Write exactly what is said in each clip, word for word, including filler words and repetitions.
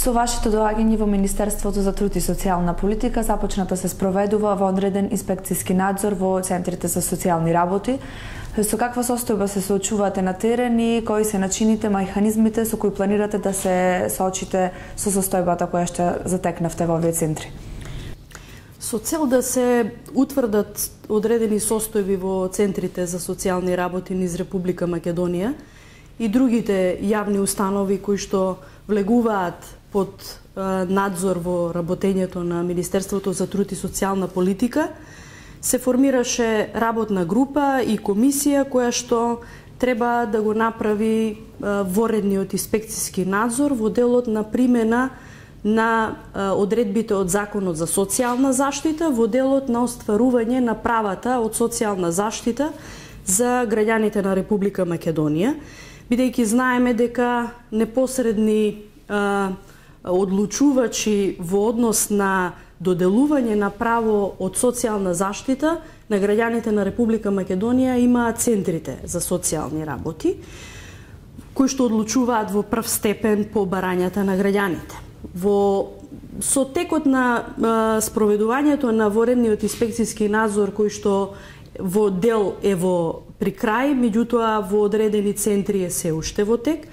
Со вашето доаѓање во Министерството за труд и социјална политика започната се спроведува во одреден инспекцијски надзор во центрите за социјални работи. Со каква состојба се соочувате на терен и кои се начините, механизмите со кои планирате да се соочите со состојбата која што затекнавте во овие центри? Со цел да се утврдат одредени состојби во центрите за социјални работи низ Република Македонија и другите јавни установи кои што влегуваат под надзор во работењето на Министерството за труд и социјална политика, се формираше работна група и комисија која што треба да го направи воредниот инспекцијски надзор во делот на примена на одредбите од Законот за социјална заштита, во делот на остварување на правата од социјална заштита за граѓаните на Република Македонија, бидејќи знаеме дека непосредни одлучувачи во однос на доделување на право од социјална заштита на граѓаните на Република Македонија имаат центрите за социјални работи, кои што одлучуваат во прв степен по барањата на граѓаните. Во со текот на а, спроведувањето на воредниот инспекцијски надзор кој што во дел е во при крај, меѓутоа во одредени центри е се уште во тек,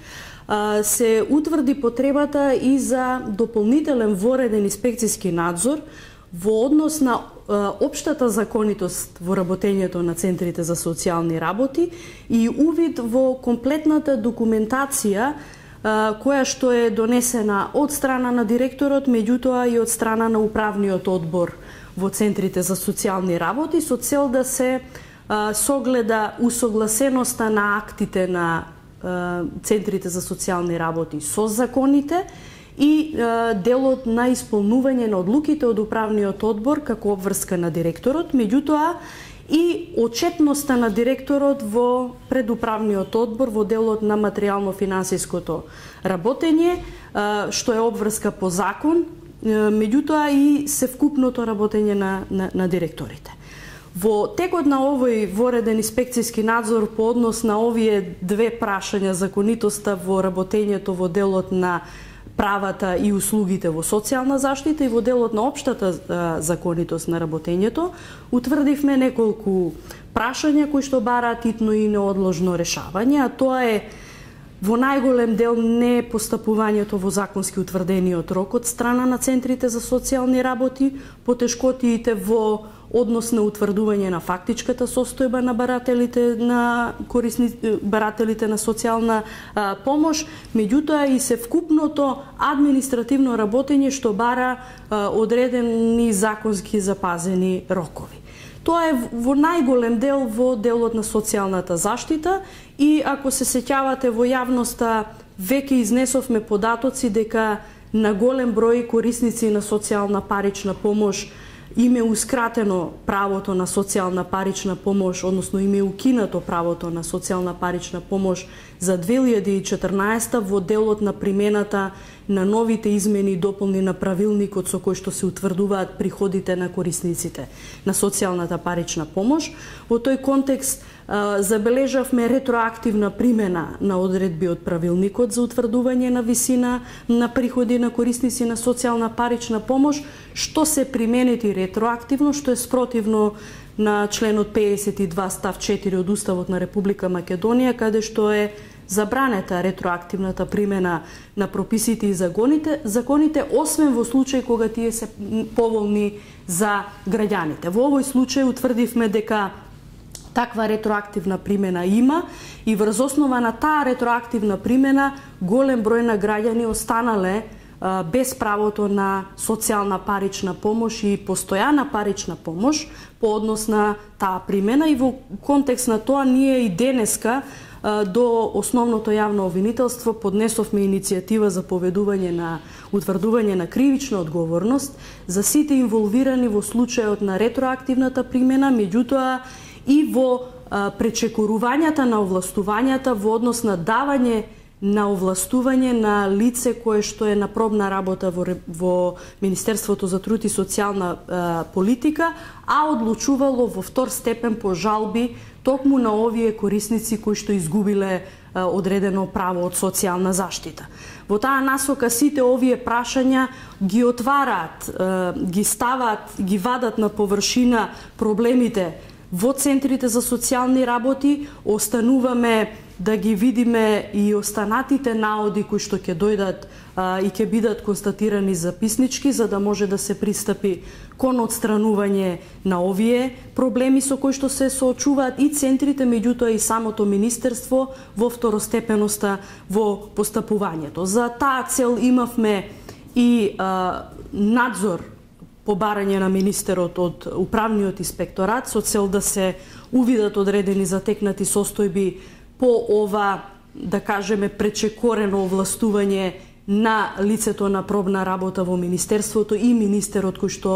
се утврди потребата и за дополнителен вореден инспекцијски надзор во однос на општата законитост во работењето на центрите за социјални работи и увид во комплетната документација која што е донесена од страна на директорот, меѓутоа и од страна на управниот одбор во центрите за социјални работи, со цел да се согледа усогласеноста на актите на центрите за социјални работи со законите и делот на исполнување на одлуките од управниот одбор како обврска на директорот, меѓутоа и отчетноста на директорот во предуправниот одбор во делот на материјално-финансиското работење, што е обврска по закон, меѓутоа и севкупното работење на, на, на директорите. Во текот на овој вореден инспекцијски надзор по однос на овие две прашања, законитоста во работењето во делот на правата и услугите во социјална заштита и во делот на општата законитост на работењето, утврдивме неколку прашања кои што бараат итно и неодложно решавање, а тоа е во најголем дел не постапувањето во законски утврдениот рок од страна на центрите за социјални работи, потешкотиите во однос на утврдување на фактичката состојба на барателите на корисни барателите на социјална а, помош, меѓутоа и севкупното административно работење што бара а, одредени законски запазени рокови. Тоа е во најголем дел во делот на социјалната заштита и ако се сеќавате во јавноста веќе изнесовме податоци дека на голем број корисници на социјална парична помош им е ускратено правото на социјална парична помош, односно им е укинато правото на социјална парична помош за две илјади и четрнаесета во делот на примената на новите измени и дополни на правилникот со кој што се утврдуваат приходите на корисниците на социјалната парична помош. Во тој контекст забележавме ретроактивна примена на одредби од правилникот за утврдување на висина на приходи на корисници на социјална парична помош, што се применети ретроактивно, што е спротивно на членот педесет и два став четири од Уставот на Република Македонија, каде што е забранета ретроактивната примена на прописите и законите, законите освен во случај кога тие се поволни за граѓаните. Во овој случај утврдивме дека таква ретроактивна примена има и врз основа на таа ретроактивна примена голем број на граѓани останале а, без правото на социјална парична помош и постојана парична помош по однос на таа примена и во контекст на тоа ние и денеска а, до основното јавно обвинителство поднесовме иницијатива за поведување на утврдување на кривична одговорност за сите инволвирани во случајот на ретроактивната примена, меѓутоа и во а, пречекорувањата на овластувањата во однос на давање на овластување на лице кое што е на пробна работа во, во Министерството за труд и социјална а, политика, а одлучувало во втор степен по жалби токму на овие корисници кои што изгубиле одредено право од социјална заштита. Во таа насока сите овие прашања ги отвараат, ги ставаат, ги вадат на површина проблемите во центрите за социјални работи. Остануваме да ги видиме и останатите наоди кои што ќе дојдат а, и ќе бидат констатирани записнички, за да може да се пристапи кон отстранување на овие проблеми со кои што се соочуваат и центрите, меѓутоа и самото министерство во второстепеноста во постапувањето. За таа цел имавме и а, надзор по барање на министерот од управниот инспекторат со цел да се увидат одредени затекнати состојби по ова, да кажеме, пречекорено овластување на лицето на пробна работа во Министерството и министерот кој што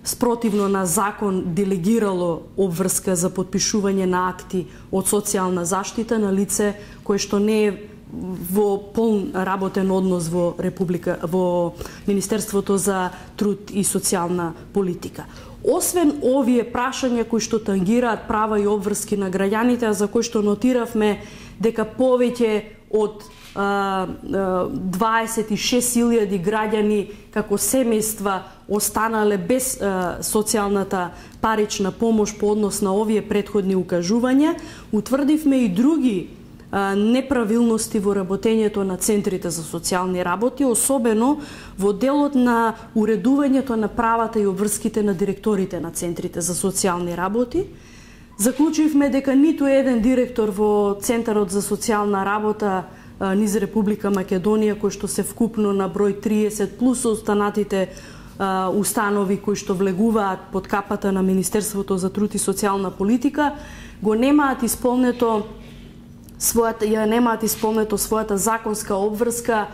спротивно на закон делегирало обврска за подпишување на акти од социјална заштита на лице кое што не е во полн работен однос во Република, во Министерството за труд и социјална политика. Освен овие прашања кои што тангираат права и обврски на граѓаните, за кои што нотиравме дека повеќе од дваесет и шест илјади граѓани како семејства останале без а, социјалната парична помош по однос на овие претходни укажувања, утврдивме и други неправилности во работењето на центрите за социјални работи, особено во делот на уредувањето на правата и обврските на директорите на центрите за социјални работи. Заклучивме дека ниту еден директор во Центарот за социјална работа низ Република Македонија, кој што се вкупно на број триесет плюс останатите установи кои што влегуваат под капата на Министерството за труд и социјална политика, го немаат исполнето својата ја немаат исполнето својата законска обврска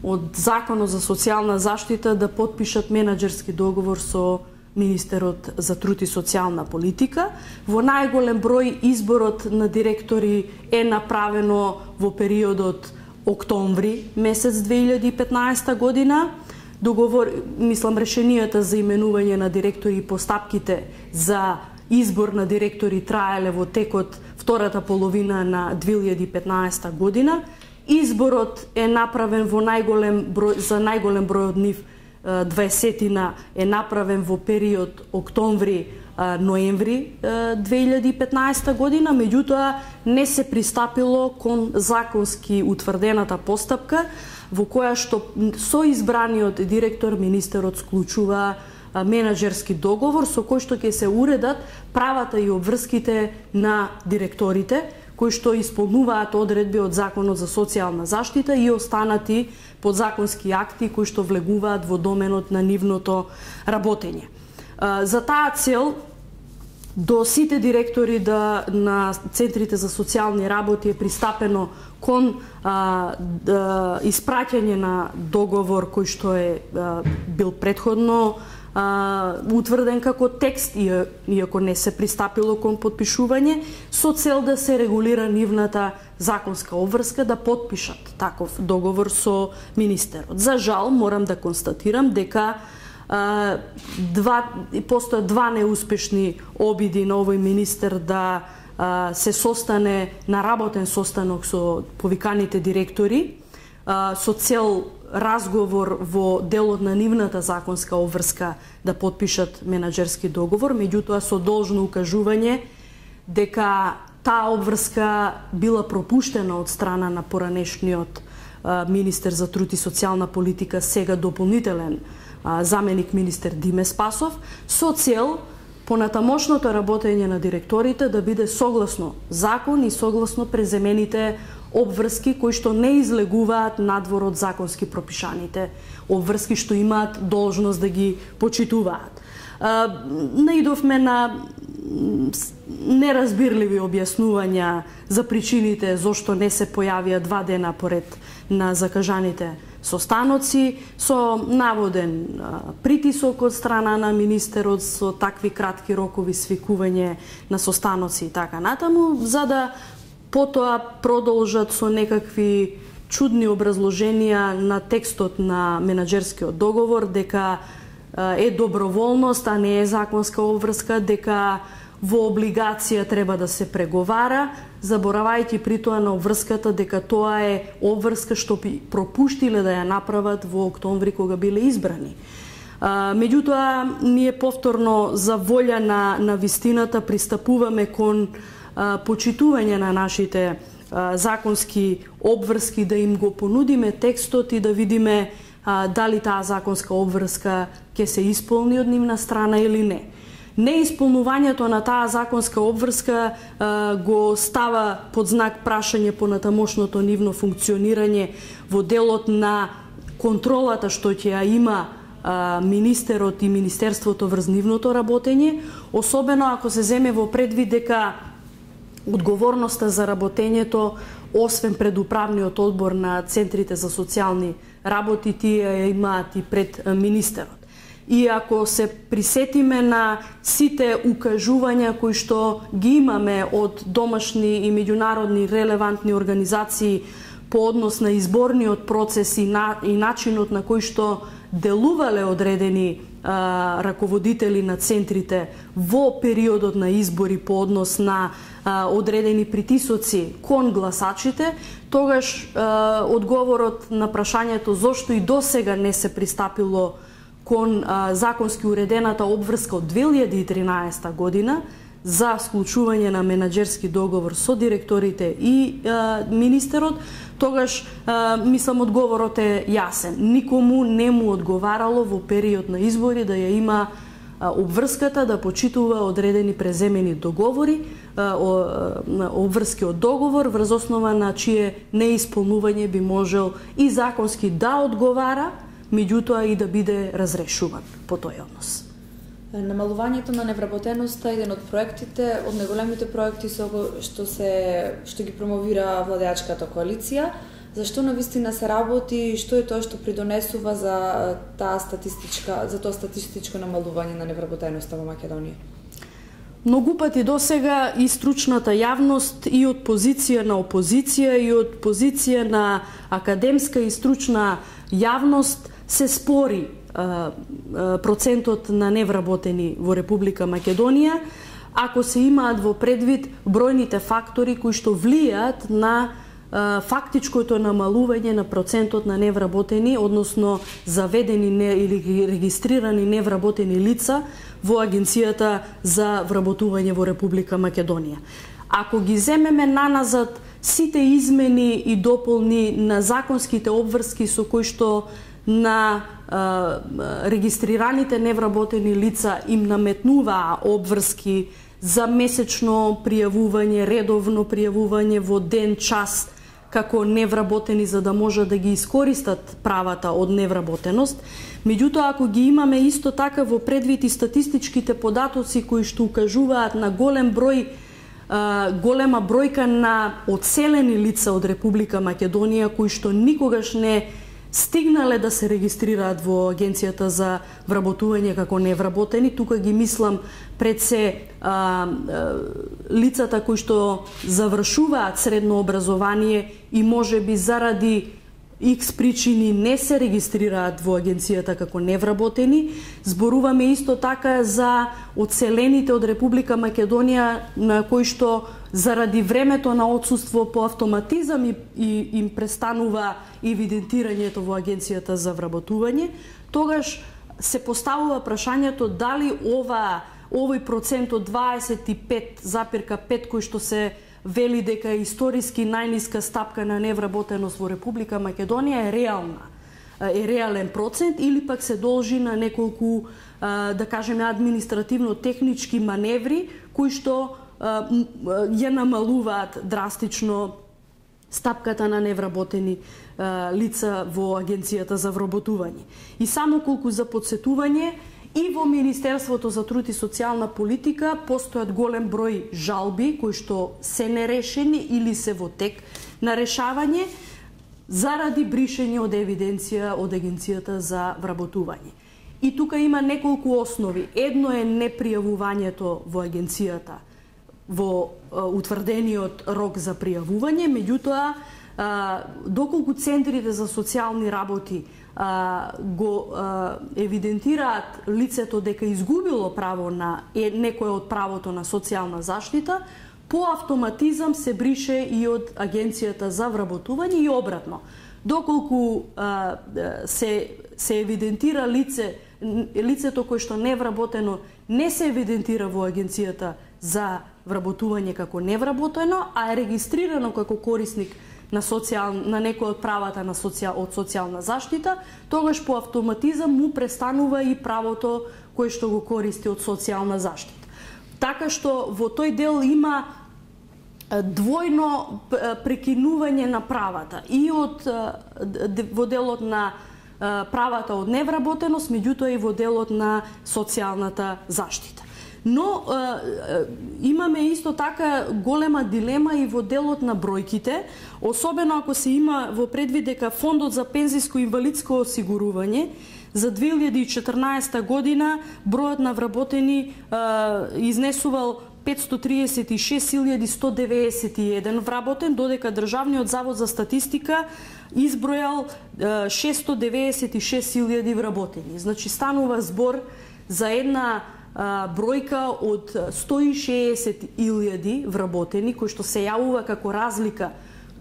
од Законот за социјална заштита да потпишат менаџерски договор со Министерот за труд и социјална политика. Во најголем број изборот на директори е направено во периодот октомври месец две илјади и петнаесета година. Договор, мислам, решенијата за именување на директори и постапките за избор на директори траеле во текот втората половина на две илјади и петнаесета година. Изборот е направен во најголем број, за најголем број од нив, дваесетина е направен во период октомври-ноември две илјади и петнаесета година, меѓутоа не се пристапило кон законски утврдената постапка во која што со избраниот директор министерот склучува менаџерски договор со кој што ќе се уредат правата и обврските на директорите кои што исполнуваат одредби од Законот за социјална заштита и останати подзаконски акти кои што влегуваат во доменот на нивното работење. За таа цел до сите директори да, на центрите за социјални работи е пристапено кон а, да, испраќање на договор кој што е а, бил претходно а, утврден како текст, иако не се пристапило кон подпишување, со цел да се регулира нивната законска обврска да потпишат таков договор со министерот. За жал, морам да констатирам дека а, два, постојат два неуспешни обиди на овој министер да а, се состане на работен состанок со повиканите директори а, со цел разговор во делот на нивната законска обврска да потпишат менаџерски договор, меѓутоа со должно укажување дека таа обврска била пропуштена од страна на поранешниот а, министер за труд и социјална политика, сега дополнителен а, заменик министер Диме Спасов, со цел понатамошното работење на директорите да биде согласно закон и согласно преземените обврски кои што не излегуваат надвор од законски пропишаните обврски што имаат должност да ги почитуваат. Наидовме на неразбирливи објаснувања за причините зошто не се појавија два дена поред на закажаните состаноци, со наводен притисок од страна на министерот со такви кратки рокови, свикување на состаноци и така натаму, за да потоа продолжат со некакви чудни образложенија на текстот на менаџерскиот договор дека е доброволност, а не е законска обврска, дека во облигација треба да се преговара, заборавајќи при тоа на обврската дека тоа е обврска што пропуштиле да ја направат во октомври кога биле избрани. А, меѓутоа, ние повторно за волја на, на вистината пристапуваме кон а, почитување на нашите а, законски обврски, да им го понудиме текстот и да видиме а, дали таа законска обврска ќе се исполни од нивна страна или не. Неисполнувањето на таа законска обврска а, го става под знак прашање по натамошното нивно функционирање во делот на контролата што ќе ја има а, министерот и министерството врз нивното работење, особено ако се земе во предвид дека одговорноста за работењето, освен пред управниот одбор на центрите за социјални работи, тие ја имаат и пред министерот. И ако се присетиме на сите укажувања кои што ги имаме од домашни и меѓународни релевантни организации по однос на изборниот процес и, на, и начинот на кој што делувале одредени а, раководители на центрите во периодот на избори по однос на а, одредени притисоци кон гласачите, тогаш а, одговорот на прашањето зошто и досега не се пристапило кон а, законски уредената обврска од две илјади и тринаесета година за склучување на менаџерски договор со директорите и а, министерот, тогаш а, мислам одговорот е јасен. Никому не му одговарало во период на избори да ја има а, обврската да почитува одредени преземени договори, а, о, а, обврски од договор врз основа на чие неисполнување би можел и законски да одговара, меѓутоа и да биде разрешуван по тој однос. Намалувањето на невработеноста е еден од проектите, од најголемите проекти со што се што ги промовира владеачката коалиција. Зашто навистина се работи и што е тоа што придонесува за таа статистичка за тоа статистичко намалување на невработеноста во Македонија? Многу пати досега и стручната јавност и од позиција на опозиција и од позиција на академска и стручна јавност се спори а, а, процентот на невработени во Република Македонија, ако се имаат во предвид бројните фактори кои што влијаат на а, фактичкото намалување на процентот на невработени, односно заведени не, или регистрирани невработени лица во Агенцијата за вработување во Република Македонија. Ако ги земеме наназад сите измени и дополни на законските обврски со кои што на а, регистрираните невработени лица им наметнуваа обврски за месечно пријавување, редовно пријавување во ден, час, како невработени за да може да ги искористат правата од невработеност. Меѓутоа, ако ги имаме исто така во предвид и статистичките податоци кои што укажуваат на голем број голема бројка на одселени лица од Република Македонија кои што никогаш не стигнале да се регистрираат во Агенцијата за вработување како невработени, тука ги мислам пред се а, а, лицата кои што завршуваат средно образование и можеби заради икс причини не се регистрираат во Агенцијата како невработени. Зборуваме исто така за одселените од Република Македонија на кои што заради времето на отсуство по автоматизам и, и им престанува евидентирањето во Агенцијата за вработување, тогаш се поставува прашањето дали ова овој процент од дваесет и пет запирка пет кој што се вели дека е историски најниска стапка на невработеност во Република Македонија е реална, е реален процент или пак се должи на неколку, да кажеме, административно-технички маневри кои што ја намалуваат драстично стапката на невработени лица во Агенцијата за вработување. И само колку за подсетување, и во Министерството за труд и социјална политика постојат голем број жалби кои што се нерешени или се во тек на решавање заради бришење од евиденција од Агенцијата за вработување. И тука има неколку основи. Едно е непријавувањето во Агенцијата во утврдениот рок за пријавување, меѓутоа доколку центрите за социјални работи а, го а, евидентираат лицето дека изгубило право на е, некое од правото на социјална заштита, по автоматизам се брише и од Агенцијата за вработување и обратно. Доколку а, се се евидентира лице лицето кое што не е вработено не се евидентира во Агенцијата за вработување како невработено, а е регистрирано како корисник на социјал на некој од правата на социјал од социјална заштита, тогаш по автоматизам му престанува и правото кое што го користи од социјална заштита. Така што во тој дел има двојно прекинување на правата и од во делот на правата од невработеност, меѓутоа и во делот на социјалната заштита. Но е, имаме исто така голема дилема и во делот на бројките, особено ако се има во предвид дека Фондот за пензиско и инвалидско осигурување за две илјади и четрнаесета година бројот на вработени е, изнесувал петстотини триесет и шест илјади сто деветдесет и еден вработен, додека Државниот завод за статистика избројал е, шестстотини деветдесет и шест илјади вработени. Значи станува збор за една бројка од сто и шеесет илјади вработени, кои што се јавува како разлика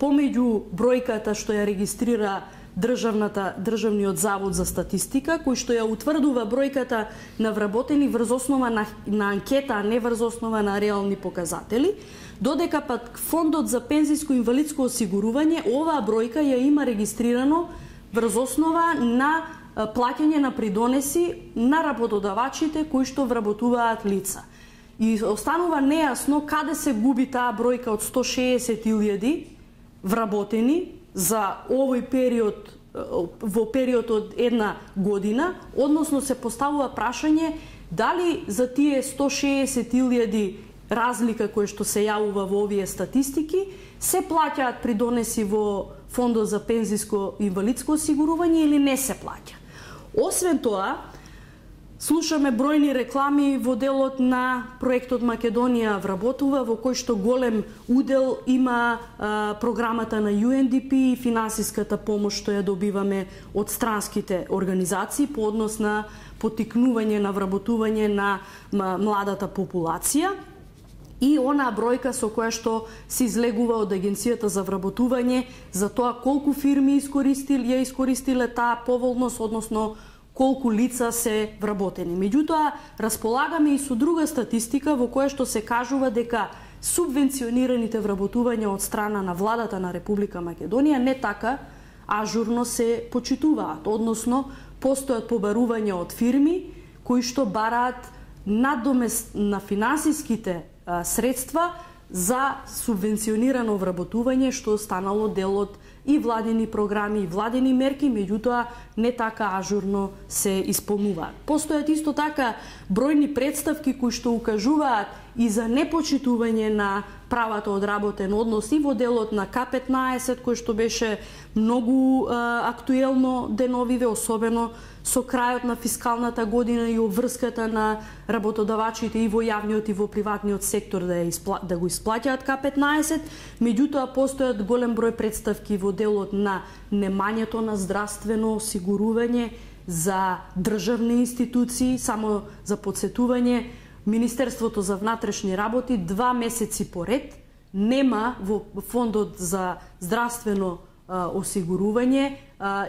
помеѓу бројката што ја регистрира државната државниот завод за статистика, кој што ја утврдува бројката на вработени врз основа на, на анкета, а не врз основа на реални показатели, додека пак Фондот за пензиско и инвалидско осигурување оваа бројка ја има регистрирано врз основа на плаќање на придонеси на работодавачите кои што вработуваат лица. И останува нејасно каде се губи таа бројка од сто и шеесет илјади вработени за овој период, во период од една година, односно се поставува прашање дали за тие сто и шеесет илјади разлика кој што се јавува во овие статистики се плаќаат придонеси во Фондот за пензиско и инвалидско осигурување или не се плаќа. Освен тоа, слушаме бројни реклами во делот на проектот Македонија вработува, во кој што голем удел има а, програмата на Ю Ен Ди Пи и финансиската помош што ја добиваме од странските организации по однос на поттикнување на вработување на младата популација. И онаа бројка со која што се излегува од Агенцијата за вработување за тоа колку фирми искористил, ја искористиле таа поволност, односно колку лица се вработени. Меѓутоа, располагаме и со друга статистика во која што се кажува дека субвенционираните вработувања од страна на владата на Република Македонија не така ажурно се почитуваат, односно постојат побарувања од фирми кои што бараат надомест на финансиските средства за субвенционирано вработување што останало дел од и владени програми и владени мерки, меѓутоа не така ажурно се исполнуваат. Постојат исто така бројни представки кои што укажуваат и за непочитување на правата од работен однос и во делот на Ка петнаесет, кој што беше многу а, актуелно деновиве, особено со крајот на фискалната година и обврската на работодавачите и во јавниот и во приватниот сектор да, испла... да го исплаќаат Ка петнаесет, меѓутоа постојат голем број представки во делот на немањето на здравствено осигурување за државни институции. Само за подсетување, Министерството за внатрешни работи два месеци поред нема во Фондот за здравствено осигурување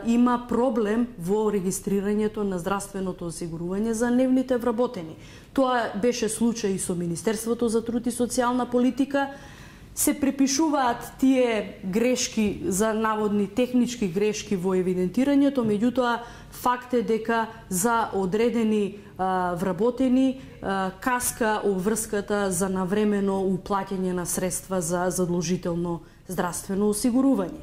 има проблем во регистрирањето на здравственото осигурување за нивните вработени. Тоа беше случај и со Министерството за труд и социјална политика. Се препишуваат тие грешки за наводни технички грешки во евидентирањето, меѓутоа факт е дека за одредени а, вработени а, каска обврската за навремено уплаќање на средства за задолжително здравствено осигурување.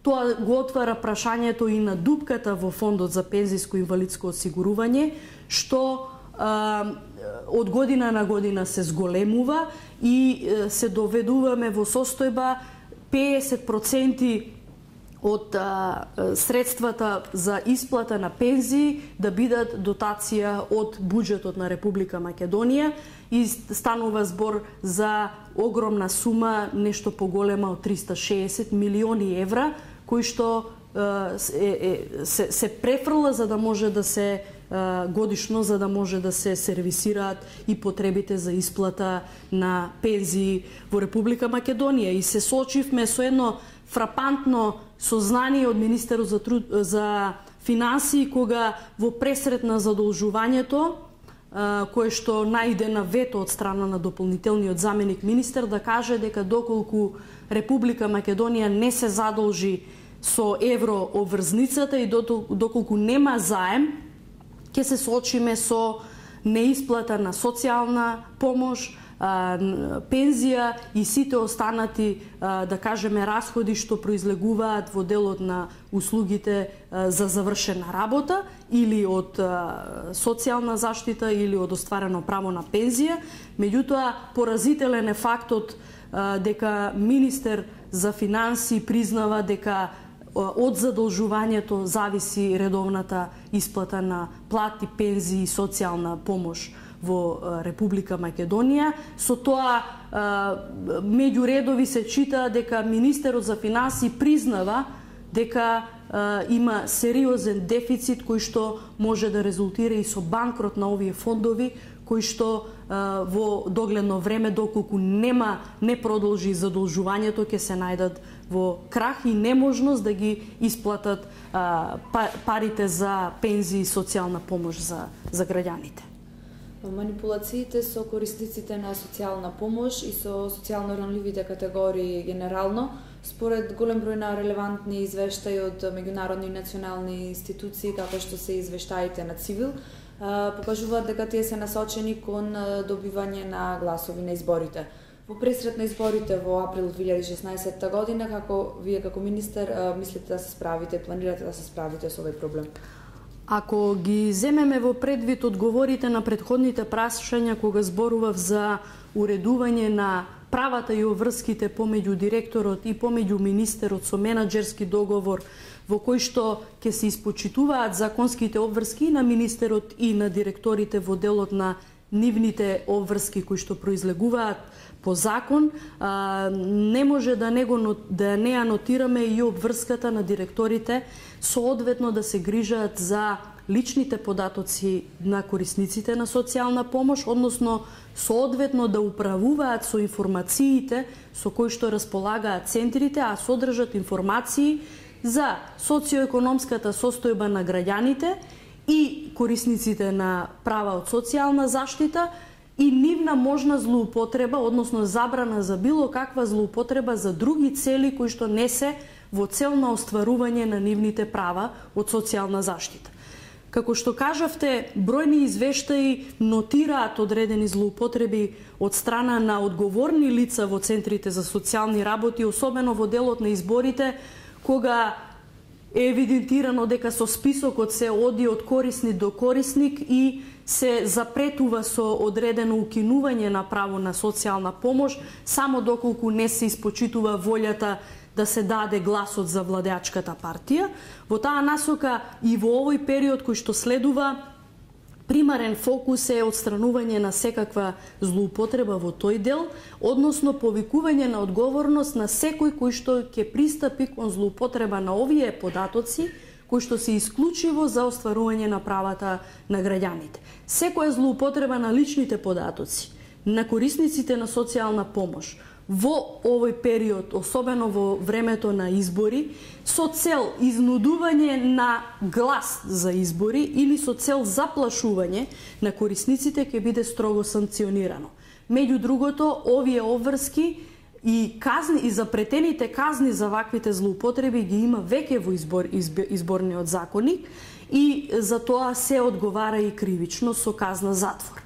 Тоа го отвара прашањето и на дупката во Фондот за пензиско и инвалидско осигурување, што а, од година на година се зголемува и а, се доведуваме во состојба педесет проценти од а, средствата за исплата на пензии да бидат дотација од буџетот на Република Македонија и станува збор за огромна сума, нешто поголема од триста и шеесет милиони евра, кои што е, е, се, се префрла за да може да се годишно, за да може да се сервисираат и потребите за исплата на пензии во Република Македонија. И се соочивме со едно фрапантно сознание од министерот за, труд, за финансии, кога во пресрет на задолжувањето, кое што најде на вето од страна на дополнителниот заменик министер, да каже дека доколку Република Македонија не се задолжи со евро обврзницата и доколку нема заем, ќе се соочиме со неисплата на социјална помош, пензија и сите останати, да кажеме, расходи што произлегуваат во делот на услугите за завршена работа или од социјална заштита или од остварено право на пензија. Меѓутоа, поразителен е фактот дека министер за финансии признава дека од задолжувањето зависи редовната исплата на плати, пензии и социјална помош во Република Македонија. Со тоа, меѓу редови се чита дека министерот за финансии признава дека има сериозен дефицит кој што може да резултира и со банкрот на овие фондови, кои што во догледно време, доколку нема не продолжи задолжувањето, ќе се најдат во крах и неможност да ги исплатат парите за пензии и социјална помош за, за граѓаните. Манипулациите со корисниците на социјална помош и со социјално ранливите категории генерално, според голем број на релевантни извештаи од меѓународни и национални институции, како што се извештаите на Цивил, покажуваат дека тие се насочени кон добивање на гласови на изборите. Во пресрет на изборите во април две илјади и шеснаесетта година, како вие како министер мислите да се справите, планирате да се справите со овој проблем? Ако ги земеме во предвид одговорите на претходните прашања кога зборував за уредување на правата и обврските помеѓу директорот и помеѓу министерот со менаџерски договор во кој што ќе се испочитуваат законските обврски на министерот и на директорите во делот на нивните обврски кои што произлегуваат по закон, а, не може да не, го, да не анотираме и обврската на директорите соодветно да се грижат за личните податоци на корисниците на социјална помош, односно соодветно да управуваат со информациите со кои што располагаат центрите, а содржат информации за социоекономската состојба на граѓаните и корисниците на права од социјална заштита и нивна можна злоупотреба, односно забрана за било каква злоупотреба за други цели кои што не се во цел на остварување на нивните права од социјална заштита. Како што кажавте, бројни извештаи нотираат одредени злоупотреби од страна на одговорни лица во центрите за социјални работи, особено во делот на изборите, кога е евидентирано дека со списокот се оди од корисник до корисник и се запретува со одредено укинување на право на социјална помош, само доколку не се испочитува волјата да се даде гласот за владеачката партија. Во таа насока и во овој период кој што следува, примарен фокус е отстранување на секаква злоупотреба во тој дел, односно повикување на одговорност на секој кој што ќе пристапи кон злоупотреба на овие податоци, кои што се исклучиво за остварување на правата на граѓаните. Секоја злоупотреба на личните податоци на корисниците на социјална помош во овој период, особено во времето на избори, со цел изнудување на глас за избори или со цел заплашување на корисниците ќе биде строго санкционирано. Меѓу другото, овие обврски и казни и запретените казни за ваквите злоупотреби ги има веќе во избор, избор, изборниот законник и за тоа се одговара и кривично со казна затвор.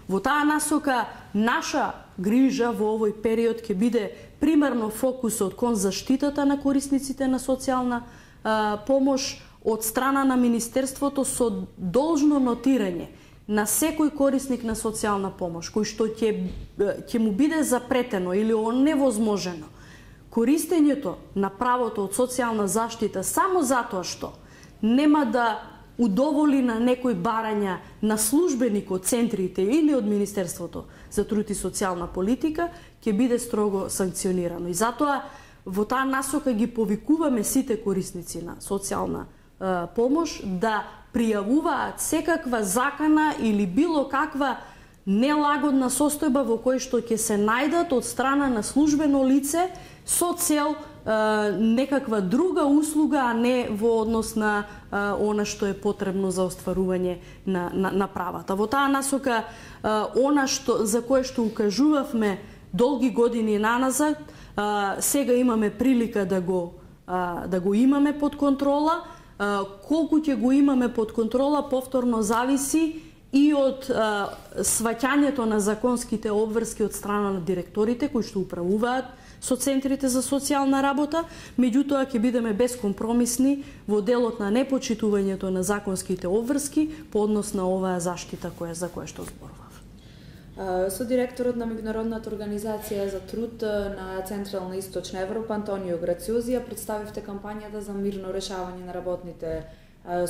Во таа насока наша грижа во овој период ќе биде примарно фокусот кон заштитата на корисниците на социјална а, помош од страна на Министерството со должно нотирање на секој корисник на социјална помош кој што ќе ќе му биде запретено или оневозможено користењето на правото од социјална заштита само затоа што нема да удоволи на некои барања на службеник од центрите или од Министерството за труд и социјална политика, ќе биде строго санкционирано. И затоа во таа насока ги повикуваме сите корисници на социјална е, помош да пријавуваат секаква закана или било каква нелагодна состојба во кој што ќе се најдат од страна на службено лице со цел е, некаква друга услуга, а не во однос на е, она што е потребно за остварување на, на, на правата. Во таа насока, е, она што, за кое што укажувавме долги години наназад, е, сега имаме прилика да го, е, да го имаме под контрола. Е, колку ќе го имаме под контрола, повторно зависи и од а, сваќањето на законските обврски од страна на директорите кои што управуваат со центрите за социјална работа, меѓутоа ќе бидеме бескомпромисни во делот на непочитувањето на законските обврски по однос на оваа заштита која за која што зборував. Со директорот на Меѓународната организација за труд на Централна и Источна Европа Антонио Грациозија представивте кампањата за мирно решавање на работните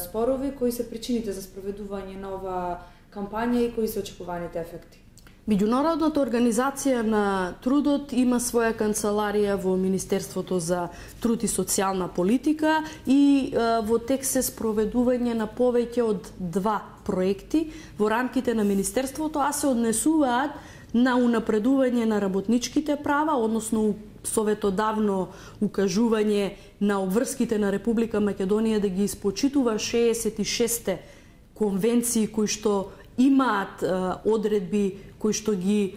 спорови, кои се причините за спроведување на оваа кампања и кои се очекуваните ефекти? Меѓународната организација на трудот има своја канцеларија во Министерството за труд и социјална политика и е, во тек се спроведување на повеќе од два проекти во рамките на Министерството, а се однесуваат на унапредување на работничките права, односно советодавно укажување на обврските на Република Македонија да ги испочитува шеесет и шесте конвенции кои што имаат е, одредби кои што ги е,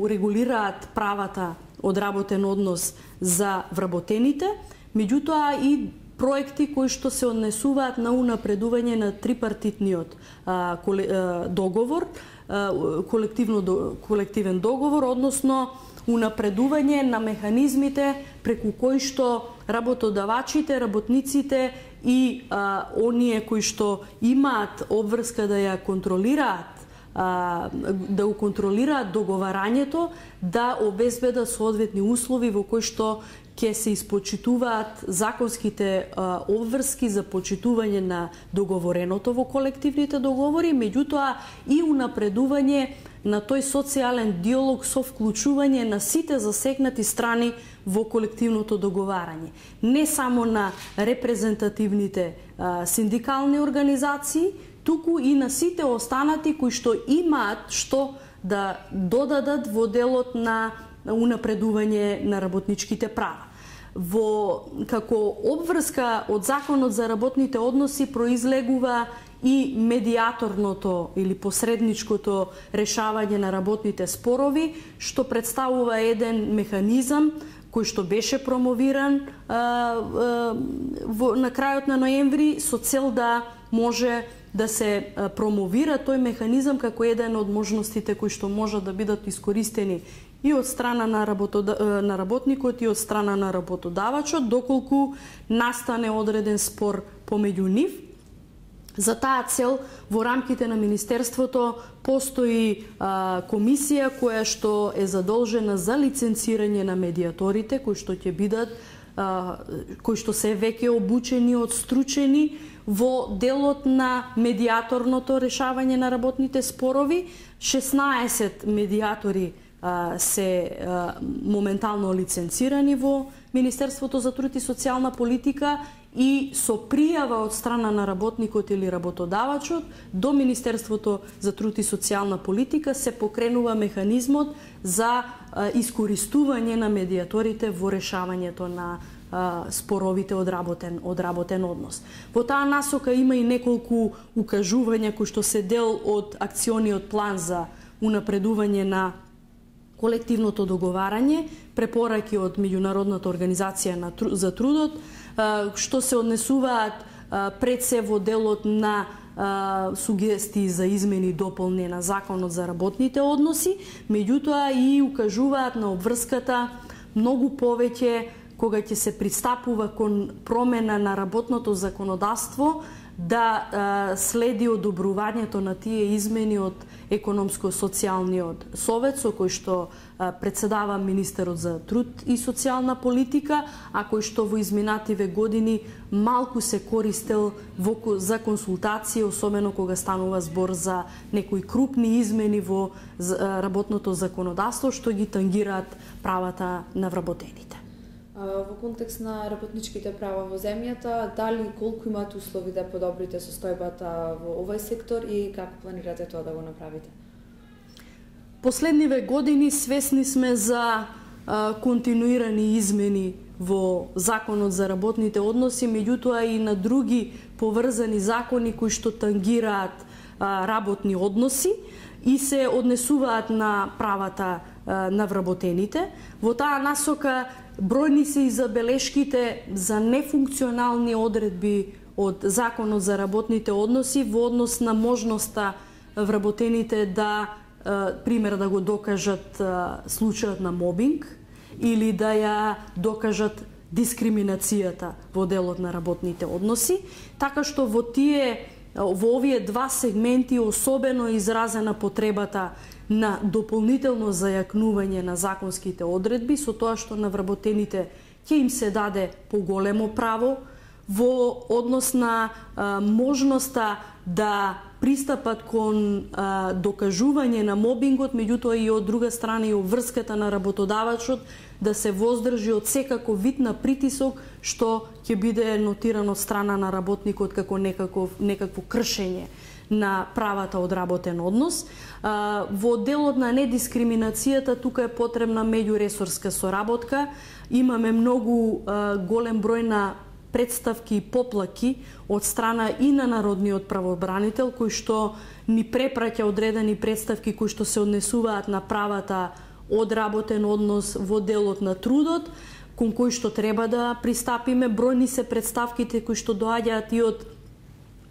регулираат правата од работен однос за вработените, меѓутоа и проекти кои што се однесуваат на унапредување на трипартитниот а, коле, а, договор, а, колективно колективен договор, односно унапредување на механизмите преку кои што работодавачите, работниците и а, оние кои што имаат обврска да ја контролираат, а, да го контролираат договарањето, да обезбедат соодветни услови во кои што ќе се испочитуваат законските а, обврски за почитување на договореното во колективните договори, меѓутоа и унапредување на тој социјален диалог со вклучување на сите засегнати страни во колективното договарање. Не само на репрезентативните а, синдикални организации, туку и на сите останати кои што имаат што да додадат во делот на унапредување на работничките права. Во како обврска од Законот за работните односи произлегува и медиаторното или посредничкото решавање на работните спорови, што представува еден механизам кој што беше промовиран а, а, во, на крајот на ноември со цел да може да се промовира тој механизам како еден од можностите кои што можат да бидат искористени и од страна на, работода... на работникот и од страна на работодавачот, доколку настане одреден спор помеѓу нив. За таа цел во рамките на Министерството постои а, комисија која што е задолжена за лиценцирање на медиаторите, кои што ќе бидат а, кои што се веќе обучени, одстручени во делот на медиаторното решавање на работните спорови. шеснаесет медиатори се моментално лиценцирани во Министерството за труд и социјална политика и со пријава од страна на работникот или работодавачот до Министерството за труд и социјална политика се покренува механизмот за искористување на медиаторите во решавањето на споровите од работен, од работен однос. Во таа насока има и неколку укажувања кои што се дел од акциониот план за унапредување на колективното договарање, препораки од Меѓународната организација за трудот, што се однесуваат пред се во делот на сугестии за измени и дополни на Законот за работните односи, меѓутоа и укажуваат на обврската многу повеќе кога ќе се пристапува кон промена на работното законодавство, да а, следи одобрувањето на тие измени од економско-социјалниот совет, со кој што а, председава министерот за труд и социјална политика, а кој што во изминативе години малку се користел во, за консултации, особено кога станува збор за некои крупни измени во работното законодавство, што ги тангираат правата на вработените. Во контекст на работничките права во земјата, дали колку имате услови да подобрите состојбата во овој сектор и како планирате тоа да го направите? Последниве години свесни сме за а, континуирани измени во Законот за работните односи, меѓутоа и на други поврзани закони кои што тангираат а, работни односи и се однесуваат на правата а, на вработените. Во таа насока бројни се и забелешките за нефункционални одредби од Законот за работните односи во однос на можноста вработените да, пример, да го докажат случајот на мобинг или да ја докажат дискриминацијата во делот на работните односи, така што во тие во овие два сегменти особено изразена потребата на дополнително зајакнување на законските одредби со тоа што на вработените ќе им се даде поголемо право во однос на а, можноста да пристапат кон а, докажување на мобингот, меѓутоа и од друга страна и обврската на работодавачот да се воздржи од секаков вид на притисок што ќе биде нотирано од страна на работникот како некаков, некакво кршење на правата од работен однос. А, во делот на недискриминацијата тука е потребна меѓуресорска соработка. Имаме многу а, голем број на представки и поплаки од страна и на Народниот правобранител, кој што ни препраќа одредени представки кои што се однесуваат на правата од работен однос во делот на трудот, кон кои што треба да пристапиме. Бројни се представките кои што доаѓаат и од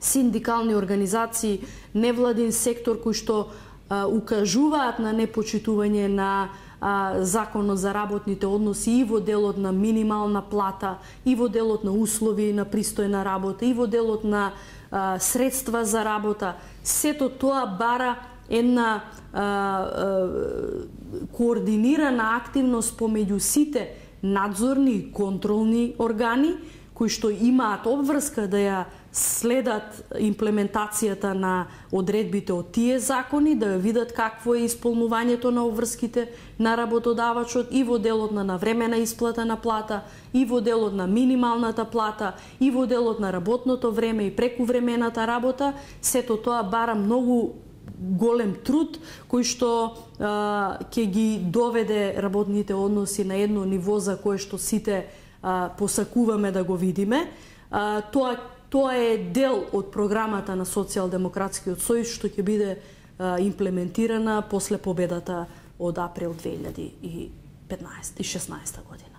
синдикални организации, невладин сектор кои што а, укажуваат на непочитување на а, Законот за работните односи и во делот на минимална плата, и во делот на услови на пристојна работа, и во делот на а, средства за работа. Сето тоа бара една а, а, координирана активност помеѓу сите надзорни и контролни органи кои што имаат обврска да ја следат имплементацијата на одредбите од тие закони, да ја видат какво е исполнувањето на обврските на работодавачот и во делот на навремена исплата на плата, и во делот на минималната плата, и во делот на работното време и прекувремената работа. Сето тоа бара многу голем труд кој што а, ќе ги доведе работните односи на едно ниво за кое што сите а, посакуваме да го видиме. А, тоа Тоа е дел од програмата на Социјалдемократскиот сојуз што ќе биде а, имплементирана после победата од април две илјади и петнаесета и шеснаесета година.